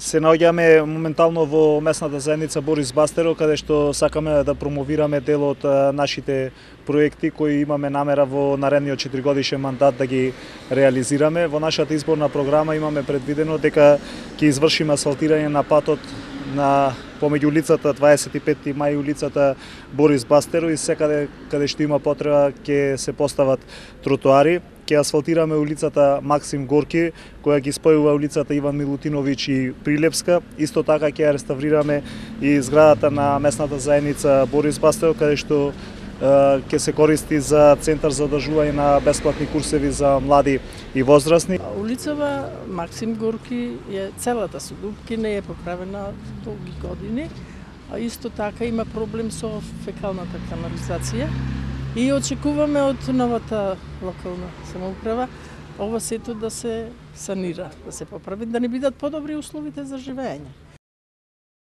Се наоѓаме моментално во местната заедница Борис Бастеро, каде што сакаме да промовираме дел од нашите проекти кои имаме намера во наредниот 4-годишен мандат да ги реализираме. Во нашата изборна програма имаме предвидено дека ќе извршиме асфалтирање на патот на помеѓу улицата 25 мај и улицата Борис Бастеро и секаде каде што има потреба ќе се постават тротоари. Ќе асфалтираме улицата Максим Горки, која ги спојува улицата Иван Милутиновиќ и Прилепска. Исто така ќе ја реставрираме и зградата на местната заедница Борис Бастеро, каде што ќе се користи за центар за одржување на бесплатни курсеви за млади и возрастни. Улицава Максим Горки е целата со дупки, не е поправена долги години, а исто така има проблем со фекалната канализација. И очекуваме од новата локална самоуправа ова сето да се санира, да се поправи, да не бидат подобри условите за живење.